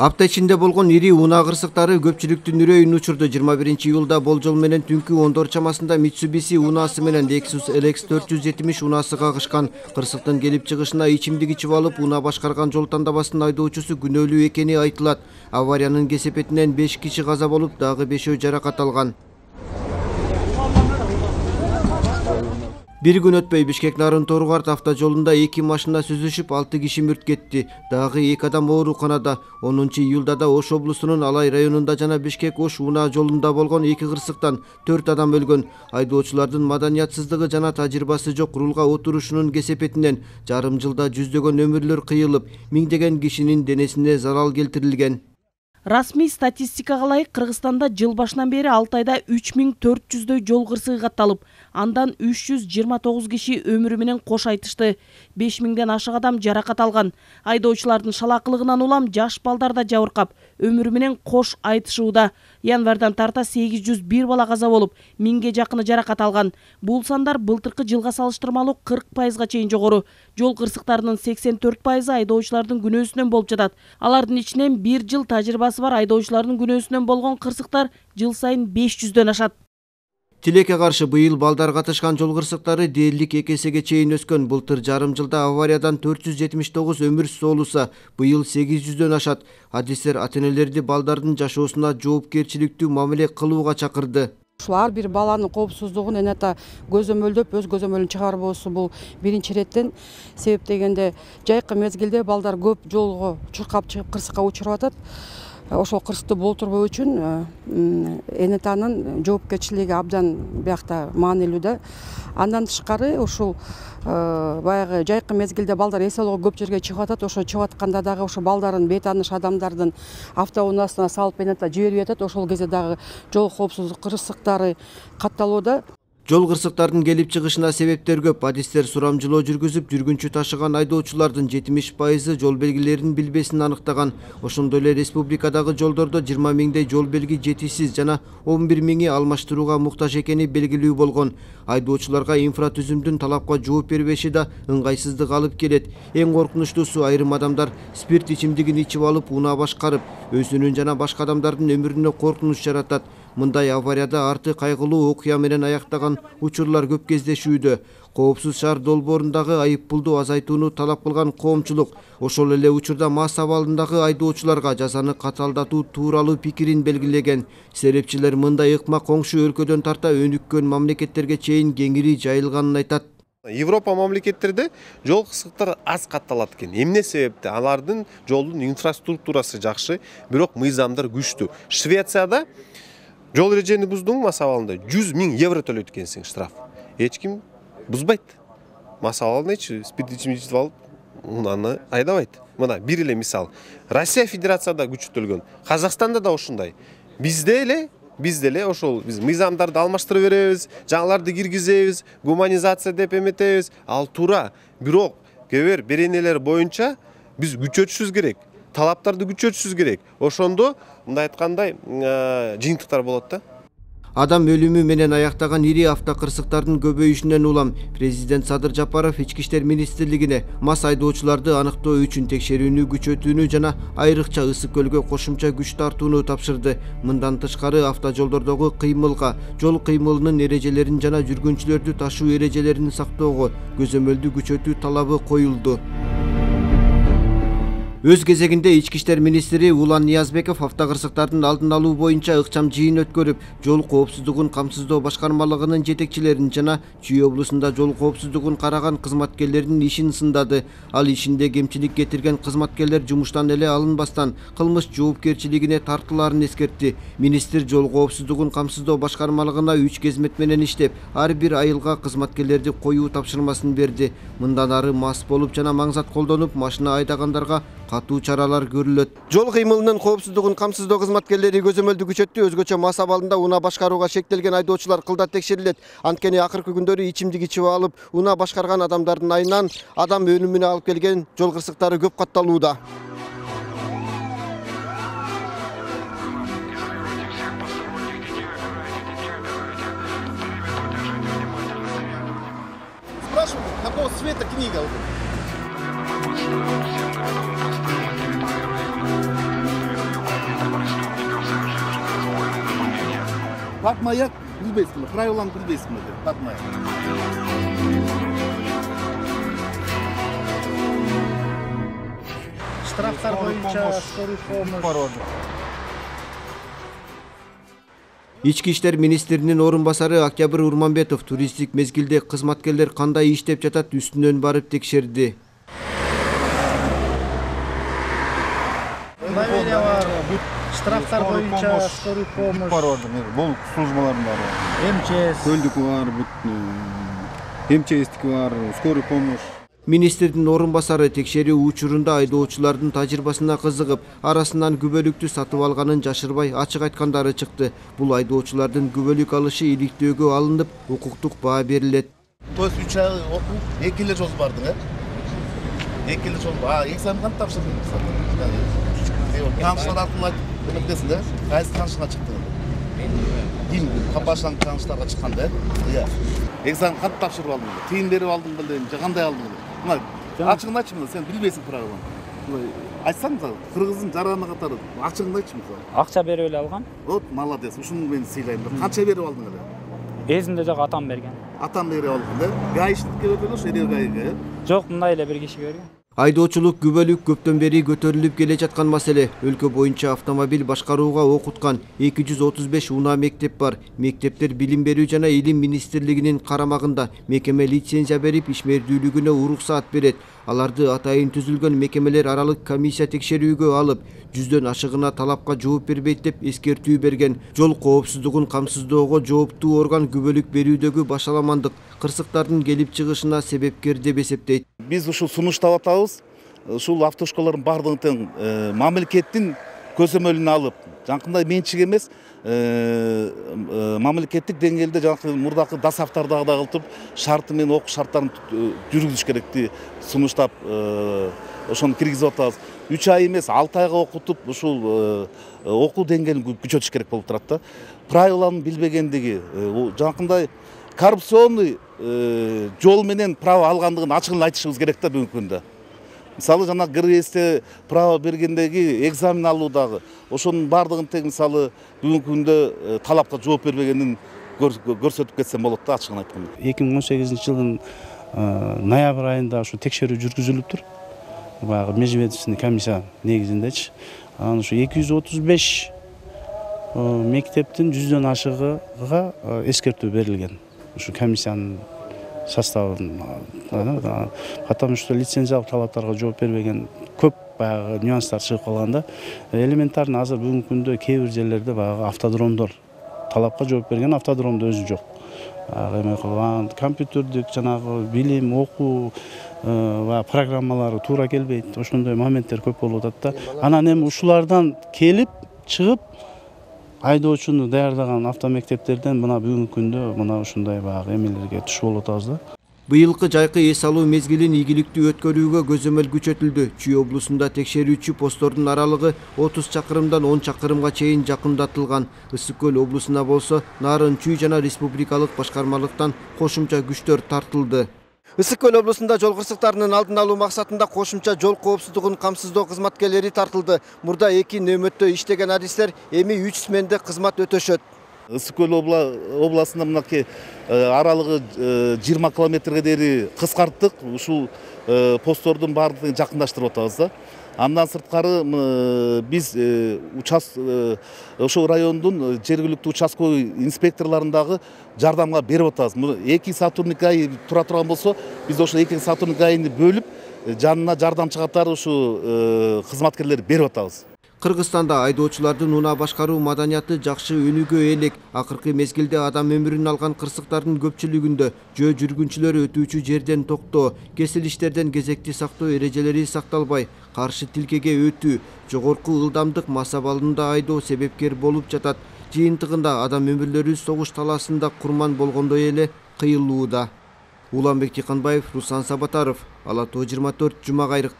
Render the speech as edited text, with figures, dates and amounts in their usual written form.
Апта ичинде болгон ири унаа кырсыктары көпчүлүктүн үрөйүн учурду. 21-июлда болжол менен түнкү 10 чамасында Mitsubishi унаасы менен Lexus LX 470 унаасы кагышкан. Кырсыктын келип чыгышына ичимдик ичип алып, унаа башкарган жол тандабасынын айдоочусу күнөөлүү экени айтылат. Авариянын кесепетинен 5 киши каза болуп, дагы 5 жаракат алган. Bir gün өтпөй Бишкек Нарын-Торгорт автожолунда 2 машина сүзүшүп 6 киши мүрт кетти. Дагы 2 адам ооруканада. 10-июлда да Ош облусунун Алай районунда жана Бишкек-Ош унаа жолунда болгон 2 кырсыктан 4 адам өлгөн. Айдоочулардын маданиятсыздыгы жана тажрыйбасы жок рулга отурушунун кесепетинен жарым жылда жүздөгөн өмүрлөр кыйылып, миңдеген кишинин денесине зарал келтирилген. Расмий статистикага ылайык Кыргызстанда жыл башынан бери 6 айда 3400дөй жол кырсыгы катталып, андан 329 киши өмүрү менен кош айтышты. 5000ден ашык адам жаракат алган. Айдоочулардын шалакылыгынан улам жаш балдар да жабыркап, өмүрү менен кош айтышууда. Январдан тарта 801 бала каза болуп, 1000ге жакыны жаракат алган. Бул сандар былтыркы жылга салыштырмалуу 40%га чейин жогору. Жол кырсыктарынын 84% айдоочулардын күнөөсүнөн болуп жатат. Алардын ичинен 1 жыл тажрыйбасы бар айдоочулардын күнөөсүнөн болгон кырсыктар жыл сайын 500дөн ашат. Тилекке каршы быйыл балдар катышкан жол кырсыктары дээрлик 2 эсеге чейин өскөн. Былтыр жарым жылда авариядан 479 өмүр соолуса, быйыл 800дөн ашат. Адистер ата-энелерди балдардын жашоосуна жоопкерчиликтүү мамиле кылууга чакырды. Ушул ар бир баланын коопсуздугун энета көзөмөлдөп, өз көзөмөлүн чыгарбоосу бул биринчи реттен. Себеп дегенде жайкы мезгилде балдар көп жолго чуркап чыгып кырсыкка учуруп атат. Ошол кырсыкты болтурбоо үчүн энетанын жоопкерчилиги абдан биякта маанилүү да. Андан тышкары ушул баягы жайкы мезгилде балдар эс алууга көп жерге чыгып атат. Ошо чыгып атканда дагы ошо балдарын бейтааныш адамдардын автоунаасына салып энета жиберип атат. Ошол кезде дагы жол коопсуздук кырсыктары катталууда. Жол кырсыктардын келип чыгышына себептер көп. Адистер сурамжылоо жүргүзүп, жүргүнчү ташыган айдоочулардын 70% жол белгилерин билбесин аныктаган. Ошондой эле республикадагы жолдордо 20 миңдей жол белги жетишсиз жана 11 миңи алмаштырууга муктаж экени белгилүү болгон. Айдоочуларга инфратүзүмдүн талапка жооп бербеши да ыңгайсыздык алып келет. Эң коркунучтуусу айрым адамдар спирт ичимдигин ичип алып унаа башкарып, өзүнүн жана башка адамдардын өмүрүнө коркунуч жаратат. Мындай аварияда арты кайгылуу окуя менен аяктаган учурлар көп кездешүүдө. Коопсуз шаар долбоорундагы айыппулду азайтууну талап кылган коомчулук ошол эле учурда мас абалындагы айдоочуларга жазаны катаалдатуу тууралуу пикирин белгилеген. Серепчилер мындай ыкма коңшу өлкөдөн тарта өнүккөн мамлекеттерге чейин кеңири жайылганын айтат. Европа мамлекеттерде жол кырсыктары аз катталат экен. Эмне себепте? Алардын жолдун инфраструктурасы жакшы, бирок мыйзамдар күчтүү. Швецияда жол эрежени буздуң мас абалында 100 000 евро төлөйт экенсиң штраф. Эч ким бузбайт. Мас абалында спирт ичип алып, унаны айдабайт. Мына бир эле мисал. Россия Федерацияда күчөтүлгөн. Казакстанда да ошондой. Бизде эле ошол биз мыйзамдарды алмаштырып беребиз, жаңыларды киргизебиз, гуманизация деп эметебиз. Ал туура. Бирок кээ бир беренелер боюнча биз күчөтүшүбүз керек. Талаптарды күчөтүшүбүз керек. Ошондо мындай айткандай жыйынтыктар болот да. Адам өлүмү менен аяктаган ири автокырсыктардын көбөйүшүнөн улам президент Садыр Жапаров Ички иштер министрлигине мас айдоочуларды аныктоо үчүн текшерүүнү күчөтүүнү жана айрыкча Ысык көлгө кошумча күч тартууну тапшырды. Мындан тышкары автожолдордогу кыймылга, жол кыймылынын эрежелерин жана жүргүнчүлөрдү ташуу эрежелерин сактоого көзөмөлдү күчөтүү талабы коюлду. Өз кезегинде Ички иштер министри Улан Ниязбеков автокырсыктардын алдын алуу боюнча ыкчам жыйын өткөрүп, жол коопсуздугун камсыздоо башкармалыгынын жетекчилерин жана Чүй облусунда жол коопсуздугун караган кызматкерлердин ишин сындады. Ал ишинде кемчилик кетирген кызматкерлер жумуштан эле алынбастан кылмыш жоопкерчилигине тартылаарын эскертти. Министр жол коопсуздугун камсыздоо башкармалыгына 3 кезмет менен иштеп, ар бир айылга кызматкерлерди коюу тапшырмасын берди. Мындан ары мас болуп жана маңзат колдонуп машина айдагандарга катуу чаралар көрүлөт. Жол кыймылынын коопсуздугун камсыздоо кызматкерлери көзөмөлдү күчөттү. Өзгөчө мас абалында унаа башкарууга шектелген айдоочулар кылдат текшерилет. Анткени акыркы күндөрү ичимдик ичип алып, унаа башкарган адамдардын айынан адам өлүмүнө алып келген жол кырсыктары көп катталууда. Спрашиваю, какого цвета книга? Батмаяк билбейсиңби, правиланы билбейсиңби деп, батмаяк. Штрафтар боюнча скорый помощь. Ички иштер министринин орун басары Октябрь Урманбетов туристтик мезгилде кызматкерлер кандай иштеп жатат үстүнөн барып текшерди. Наведе бар, штрафтар боюнча скорый помощь. Бул службалардын баары. МЧС. Көлдүк бар, МЧСтики бар, скорый помощь. Министрдин орун басары текшерүү учурунда айдоочулардын тажрыйбасына кызыгып, арасынан күбөлүктү сатып алганын жашырбай ачык айткандары чыкты. Бул айдоочулардын күбөлүк алышы иликтөөгө алынып, укуктук баа берилет. То есть 3 ай окуу 2 эле жол бардың, 2 эле жол. Экзамен кантип тапшырдың? Таныштар аркылуу айтып эмектесиң да? Кайсы танышыңа чыктың? Ким капашаң таныштарга чыкканда? Экзамен кантип тапшырып алдың? Тыйын берип алдың беле, же кандай алдың? Мына ачыгын айтчы, сен билбейсиң правиланы. Айтсаң, кыргыздын жараны катары ачыгын айтчы мисалы. Акча берип эле алгам. Вот молодец, ушуну мен сыйлайм. Канча берип алдың эле? Эзимде жок, атам берген. Атам берип алдың да? Гаишниктке өтөлөш, эле гаиге. Жок, мындай эле бир киши берген. Айдоочулук күбөлүк көптөн бери көтөрүлүп келе жаткан маселе. Өлкө боюнча автомобиль башкарууга окуткан 235 унаа мектеп бар. Мектептер билим берүү жана илим министрлигинин карамагында. Мекеме лицензия берип, ишмердүүлүгүнө уруксаат берет. Аларды атайын түзүлгөн мекемелер аралык комиссия текшерүүгө алып, 100дөн ашыгына талапка жооп бербейт деп эскертүү берген. Жол коопсуздугун камсыздоого жооптуу орган күбөлүк берүүдөгү башаламандык кырсыктардын келип чыгышына себепкер деп эсептейт. Биз ушул сунуштап атабыз. Ушул автошколордун бардыгын тең мамлекеттин көзөмөлүнө алып, жанакындай менчик эмес, мамлекеттик деңгээлде жанакы мурдакы дасафтардагы кылтып, шарты менен окуу шарттарын жүргүзүш керекти сунуштап ошону киргизип атабыз. 3 ай эмес, 6 айга окутуп, ушул окуу деңгээлин күчөтүш керек болуп турат да. Правиланы билбегендиги, жанакындай коррупционный жол менен право алгандыгын ачыгын айтышыбыз керек да бүгүнкү күндө. Мисалы жана ГРСте право бергендеги экзамен алуудагы ошонун бардыгын тең мисалы бүгүнкү күндө талапка жооп бербегенин көрсөтүп кетсем болот да, ачыгын айтканда. 2018-жылдын ноябрь айында ушу текшерүү жүргүзүлүптүр. Баягы межведомственный комиссия негизиндечи. Анан ушу 235 мектептин 100дөн ашыгыга эскертүү берилген. Ушу комиссиянын составын, потому что лицензиялык талаптарга жооп бербеген көп баягы нюанстар чыгып калганда, элементарный азыр бүгүнкү күндө кээ бир жерлерде баягы автодромдор талапка жооп берген, автодромдо өзү жок. Эме кылган компьютердик жанагы билим, окуу программалары туура келбейт. Ошондой моменттер көп болуп атат да. Анан эми ушулардан келип чыгып айдоочуну даярдаган автомектептерден мына бүгүнкү күндө мына ушундай баягы эмелерге туш болуп атабыз да. Быйылкы жайкы эс алуу мезгилин ийгиликтүү өткөрүүгө көзөмөл күчөтүлдү. Чүй облусунда текшерүүчү посттордун аралыгы 30 чакырымдан 10 чакырымга чейин жакындатылган. Ысык көл облусуна болсо Нарын Чүй жана республикалык башкармалыктан кошумча күчтөр тартылды. Ысык көл облусунда жол кырсыктарынын алдын алуу максатында кошумча жол коопсуздугун камсыздоо кызматкерлери тартылды. Мурда 2 нөөмөттө иштеген адистер эми 3 сменде кызмат өтөшөт. Ысык көл областында мынакей аралыгы 20 километрге дейин кыскарттык. Ушул посттордун баардыгын жакындаштырып атабыз да. Андан сырткары биз ошол райондун жергиликтүү участковый инспекторлорундагы жардамга берип атабыз. 2 сотрудник ай тура турган болсо, биз ошол 2 сотрудник айны бөлүп, жанына жардамчы катары ушу кызматкерлерди берип атабыз. Кыргызстанда айдоочулардын унаа башкаруу маданияты жакшы өнүгө элек. Акыркы мезгилде адам өмүрүн алган кырсыктардын көпчүлүгүндө жөө жүргүнчүлөр өтүүчү жерден токтоо, кесилиштерден кезекти сактоо эрежелери сакталбай, каршы тилкеге өтүү, жогорку ылдамдык маса балында айдоо себепкер болуп жатат. Жыйынтыгында адам өмүрлөрү согуш талаасында курман болгондой эле кыйылууда. Уланбек Тиканбаев, Руслан Сабатаров, Ала Тоо 24, Жума Кайрык.